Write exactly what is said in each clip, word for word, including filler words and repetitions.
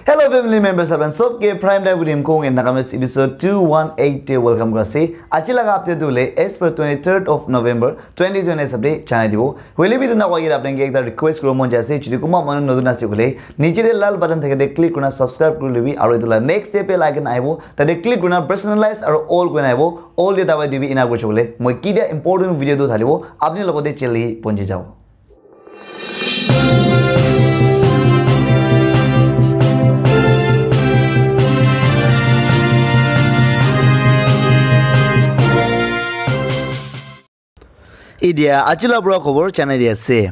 Hello family members, apan sob ke Prime Time with Imkong in Nagamese episode two one eight te welcome kura ase. Aji laga update tu hoile as per twenty-third of November twenty twenty hisab te janai dibo. Hoile bi etu na koi kena apni ke ekta request kuribo mon jai ase, jodi kunba manu notun ase koile, niche te lal button thake te click kurina subscribe kuri lobi, aru etu la next te bell icon ahibo, tate click kurina personalize aru all kurina ahibo, all te dabai dibi, ena kuri chole moi kitia important video tu thalibo, apni logote jali ponchi jabo. Idia aji la pura khobor janai di ase.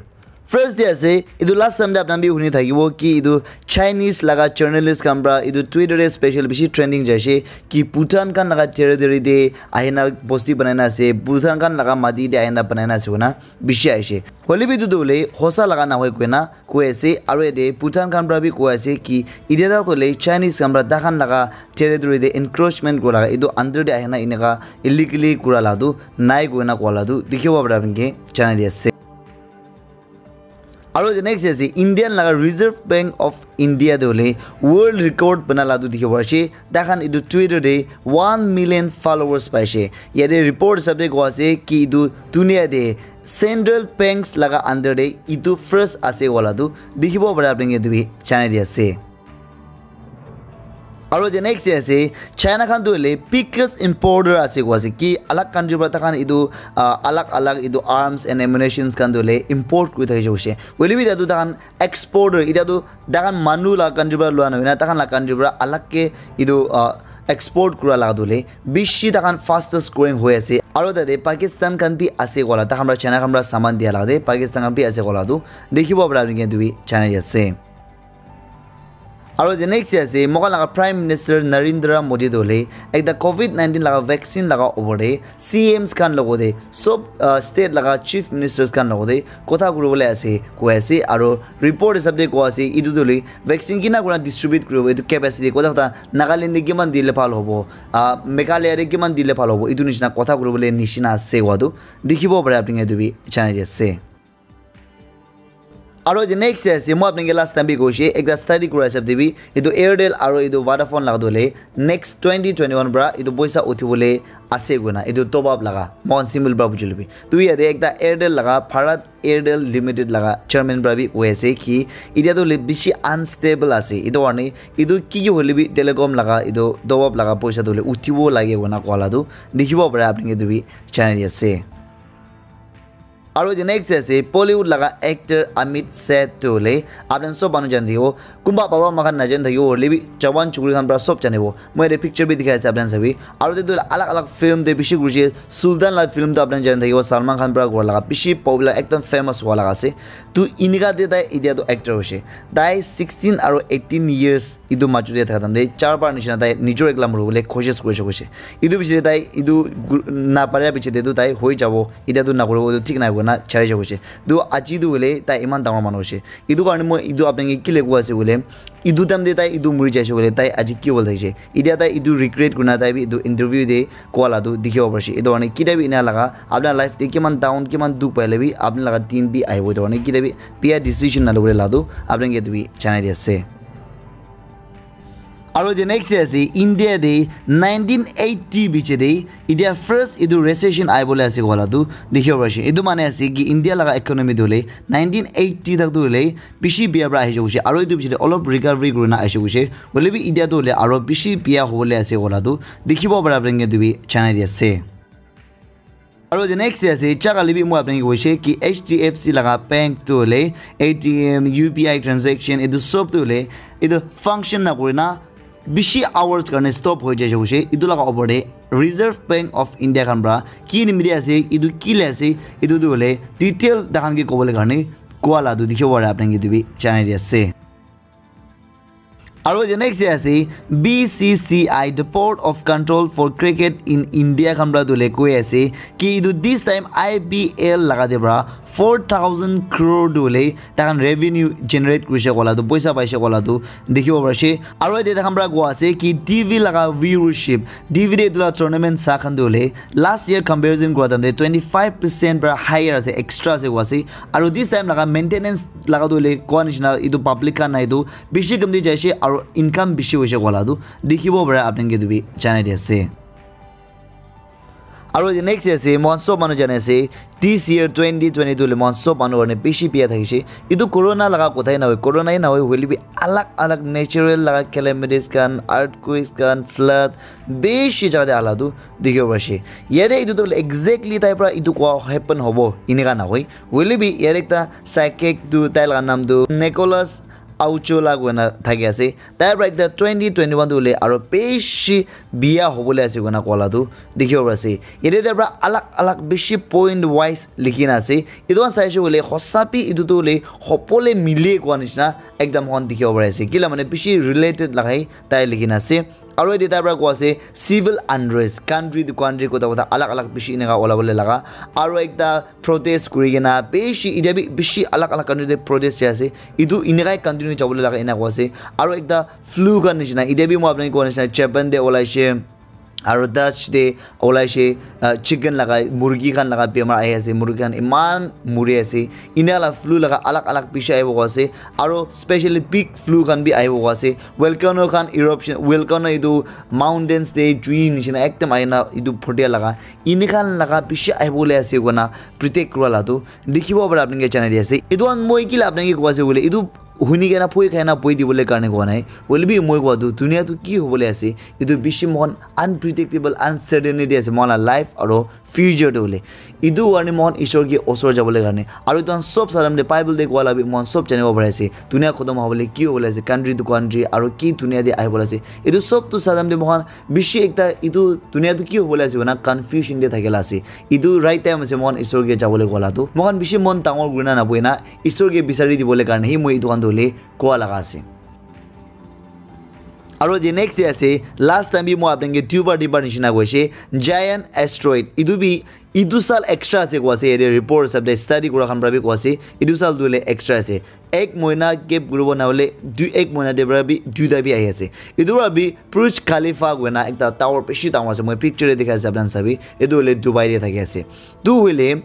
First te ase, etu last time te apni bi huni thakibo ki etu Chinese laga journalist khan pra etu Twitter te special bishi trending jai ase ki Bhutan khan laga territory te ahina bosti banai na ase, Bhutan khan laga mati te ahina banai na ase koina bishi aise. Hoile bi etu tu hoile hosa laga na hoi koina koi ase, aru yate Bhutan khan pra bi koi ase ki idia tak tu hoile Chinese khan pra takhan laga territory te encroachment kura laga, etu under te ahina eneka illegally kura la tu nai koina koa la tu dikhibo para apni ke janai di ase. Aru the next ase Indian laga Reserve Bank of India te hoile world record bana la tu dikhibo ase. Takhan etu Twitter te one million followers paise. Yate report hisab te koa ase ki etu dunia te central banks laga under te etu first ase wala tu dikhibo para apni ke etu bi janai di ase. Aru the next te ase China khan tu hoile biggest importer ase koa ase ki alag country para takhan etu ah, alag alag etu arms and ammunitions khan tu hoile import kuri thakise koise. Hoile bi etu takhan exporter, etia tu takhan manu la country para lua na hoina takhan la country para alag ke etu ah, export kura laga tu hoile bishi takhan fastest growing hoi ase. Aru tate Pakistan khan bi ase koa la, takhan para China khan para saman dia laga te Pakistan khan bi ase koa la tu dikhibo para apni ke etu bi janai di ase. Aru the next te ase, moikhan laga Prime Minister Narendra Modi tu hoile ekta covid nineteen laga vaccine laga opor te C Ms khan logote sob ah, state laga chief ministers khan logote kotha kuribole ase koi ase. Aru report hisab te koa ase etu tu hoile vaccine kina kurina distribute kuribo etu capacity kotha kotha Nagaland te kiman dile bhal hobo, ah, Meghalaya te kiman dile bhal hobo, etu nishina kotha kuribole nishina ase koa tu dikhibo para apni ke etu bi janai di ase. Aru the next te ase, moi apni ke last time bi koise, ekta study kura hisab te bi etu Airtel aru etu Vodafone laga tu hoile next twenty twenty-one para etu poisa uthibole ase koina etu top up laga moikhan simple para buji lobi. Tu yate ekta Airtel laga Bharat Airtel Limited laga chairman para bi koi ase ki etia tu hoile bishi unstable ase, etu karne etu ki ki hoile bi telecom laga etu top up laga poisa tu hoile uthibo lage koina koa la tu dikhibo para apni ke etu bi janai di ase. Aru the next ase Bollywood laga actor Amit Seth tu hoile apni sob manu jani thakibo, kunba baba moikhan najani thakibo hoile bi jawan chukri khan para sob janibo. Moi yate picture bi dikhai ase apni khan sabi. Aru te tu alag alag film te bishi kuriche. Sultan la film tu apni khan jani thakibo, Salman Khan para kura laga bishi popular ekdam famous hua laga ase. Tu enika te tai etia tu actor hoise. Tai sixteen aru eighteen years etu majo te thaka time te char bar nishina tai nijor ekla mori bole koshish kurise koise. Etu piche te tai etu gu- na paria piche te tu tai hoi jabo, etia tu na kuribo etu thik nai koina chari jabo koise. Tu aji tu hoile tai eman dangor manu hoise. Etu karne moi etu apni ke kile koi ase koile, etu time te tai etu muri jaise koile tai aji ki hobole thakise. Etia tai etu regret kurina tai bi etu interview te koa la tu dikhibo parise. Etu karne kitia bi ena laga apni life te kiman down kiman dukh paile bi apni laga din bi ahibo. Etu karne kitia bi bia decision na lobole la tu apni ke etu bi janai di ase. Aru the next te ase India te nineteen eighty biche te etia first etu recession ahi bole ase koa la tu dikhibo parise. Etu mane ase ki India laga economy tu hoile nineteen eighty tak tu hoile bishi bia para ahi jabo koise. Aru etu piche te olop recovery kurina ahi jabo koise. Hoile bi etia tu hoile aru bishi bia hobole ase koa la tu dikhibo para apni ke etu bi janai di ase. Aru the next te ase, chakali bi moi apni ke koise ki H D F C laga bank tu hoile A T M, U P I transaction, etu sob tu hoile etu function na kurina bishi hours karne stop hoi jaise koise. Etu laga opor te Reserve Bank of India khan para ki nimite ase, etu ki le ase, etu tu hoile detail takhan ke kobole karne koa la tu dikhibo para apni ke etu bi janai di ase. Aru the next te ase B C C I, the Board of Control for Cricket in India khan para tu hoile koi ase ki etu this time I P L laga te para four thousand crore tu hoile takhan revenue generate kurise koa la tu, poisa paise koa la tu dikhibo parise. Aru yate takhan para koi ase ki T V laga viewership, T V te etu la tournament sa khan tu hoile last year comparison kura time te twenty five percent para higher ase, extra ase koi ase. Aru this time laga maintenance laga tu hoile koi nishina etu public khan nai tu bishi kam te jaise. Aro income bishi hoise kola tu dikhibo pare apni khan ke tu bi janai di ase. Aro the next ase, mohan sob manu jane ase, this year twenty twenty-two le mohan sob manu karne bishi biya thakishe. Etu corona laga kotha hi nahoi, corona hi nahoi, hoile bi alag alag natural laga calamities khan, earthquakes khan, flood, bishi jaga te ala tu dikhibo parishe. Yate etu tu exactly tai pra etu kwa happen hobo, eneka nahoi. Hoile bi yate ekta psychic tu, tai laga naam tu Nicholas Auchola koina thaki ase. Tai pra ekta twenty twenty-one tu hoile aro bishi biya hobole ase koina kola tu dikhibo pari ase. Yate tai pra alag alag bishi point wise likhi na ase. Etu khan saishe hoile hosa bi etu tu hoile hobole mile koa nishina ekdam hon dikhibo pari ase. Kila mane bishi related lagai tai likhi na ase. Aro yate tai pra koa ase civil unrest, country to country kota kota alag alag bishi eneka ola bole laga. Aro ekta protest kuri kena bishi, itya bi bishi alag alag country te protest jai ase. Etu eneka continue jabo le laga ena koa ase. Aro ekta flu khan nishina, itya bi moi apni koa nishina Japan te olaishe, aro Dutch te olaishe, ah, chicken laga, murgi khan laga bemar ahi ase, murgi khan eman muri ase. Eneka la flu laga alag alag bishi ahibo koa ase, aro specially big flu khan bi ahibo koa ase. Volcano khan eruption, volcano etu mountains te jui nishina ekdam ahina etu photia laga, eneka laga bishi ahibole ase koina predict kura la tu dikhibo pare apni ke janai di ase. Etu khan moi kila apni ke koa ase koile, etu huni kena phoi khai na boi dibole karne koa nai. Hoile bi moi koa tu dunia tu ki hobole ase, etu bishi mohan unpredictable, uncertainty ase mohan la life aro future te hoile. Etu karne mohan Ishwar ke osor jabole karne, aro etu khan sob salam te Bible te koa la bi mohan sob janibo pari ase. Dunia khotom hobole ki hobole ase, country to country, aro ki dunia te ahibole ase. Etu sob tu salam te mohan bishi ekta etu dunia tu ki hobole ase koina confusion te thakila ase. Etu right time ase mohan Ishwar ke jabole koa la tu. Mohan bishi mon dangor kurina naboina Ishwar ke bisari dibole karne hi moi etu khan tu hoile koa laga ase. Aro the next day ase, last time bi moi apni ke duibar tinbar nishina koise, giant asteroid. Etu bi, etu sal extra ase koa ase, yate report hisab te study kura khan pra bi koa ase, etu sal tu hoile extra ase. Ek mohina gap kuribo na hoile, dui, ek mohina te pra bi duita bi ahi ase. Etu pra bi Burj Khalifa koina ekta tower bishi dangor ase, moi picture te dikha ase, apni khan sabi, etu hoile Dubai te thaki ase. Tu hoile,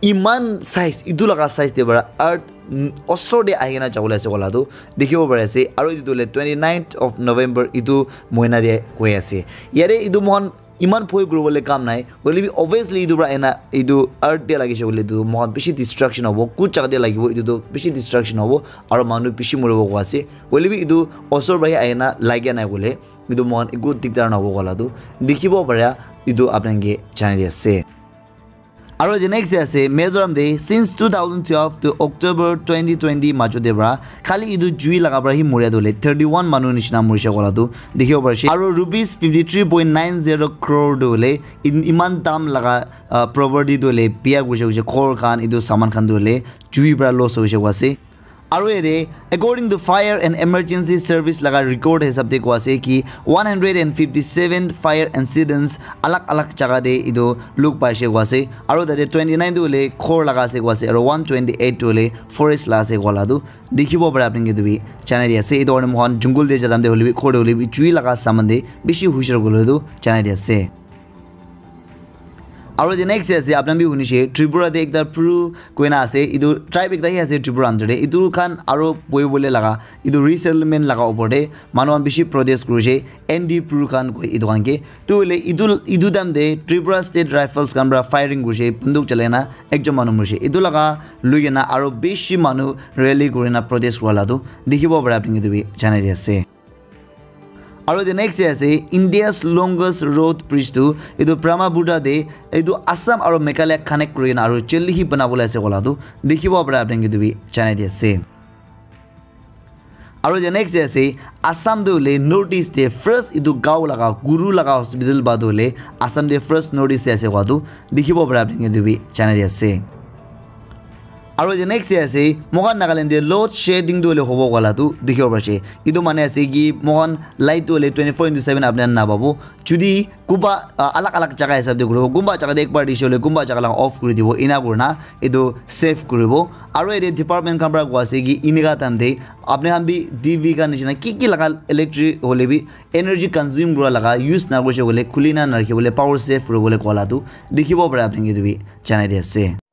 iman size, etu laga size te para earth, mm, osor te ahi kena jabo le ase koa la tu dikhibo pari ase. Aro etu hoile twenty-ninth of November etu mohina te hoi ase. Yate etu mohan iman bhoi kuri bole kam nai. Hoile bi obviously etu para ena etu earth te lagise koile tu mohan bishi destruction hobo. Kut jaga te lagibo etu tu bishi destruction hobo. Aro manu bishi moribo koa ase. Hoile bi etu osor para ahi kena lagia nai koile etu mohan eku dikdar nahobo koa la tu dikhibo pare. Etu apni khan ke janai di ase. Aro the next day ase, Mizoram te since two thousand twelve to October twenty twenty majo te pra khali etu jui laga pra hi moria tu hoile thirty-one manu nishina morise koa la tu dikhibo pari ase. Aro rupees fifty-three point nine zero crore tu hoile in-, iman dam laga, ah, property tu hoile biya kurise kurise ghor khan etu saman khan tu hoile jui pra loss hoise koa ase. Aro yate, according to Fire and Emergency Service laga record hisab te koa ase ki one hundred and fifty-seven fire incidents alag alag jaga te etu luk paise koa ase. Aro tate twenty-nine tu hoile ghor laga ase koa ase, aro one twenty-eight tu hoile forest la ase koa la tu dikhibo pare apni ke tu bi janai di ase. Etu karne mohan jungle te jadam te hoile bi, ghor te hoile bi, jui laga saman te bishi hushar kuri bole tu janai di ase. Aro the next ase, apni khan bi hunishe, Tripura te ekta Pru koina ase, etu tribe ekta hi ase Tripura under te. Etu khan aro bohi bole laga, etu resettlement laga upor te manu khan bishi protest kurise, N D Pru khan koi etu khan ke. Tu hoile etu, etu time te Tripura State Rifles khan para firing kurise, banduk chalai na ekjon manu morise. Etu laga lui kena aro bishi manu rally kurina protest kura la tu dikhibo pare apni khan ke tu bi janai di ase. Aro the next day ase, India's longest road bridge tu etu Brahmaputra te etu Assam aro Meghalaya connect kuri kena aro jaldi hi bana bole ase koa la tu dikhibo pare apni khan ke tu bi janai di ase. Aro the next day ase, Assam tu hoile North East te first etu gaon laga guru laga hospital ba tu hoile Assam te first North East te ase koa tu dikhibo pare apni khan ke tu bi janai di ase. Aro the next day ase, moikhan Nagaland te load shedding tu hoile hobo koa la tu dikhibo pari ase. Etu mane ase ki moikhan light tu hoile twenty-four into seven apni khan napabo. Jodi kunba, ah, alag alag jaga hisab te kuribo, kunba jaga te ekbar dise hoile kunba jaga laga off kuri dibo, ena kurina etu save kuribo. Aro yate department khan para koa ase ki eneka time te apni khan bi D V khan nishina ki ki laga electric hoile bi energy consume kura laga use na kurise koile khuli na narakhi bole, power save kuri bole koa la tu dikhibo pare apni khan ke tu bi janai di ase.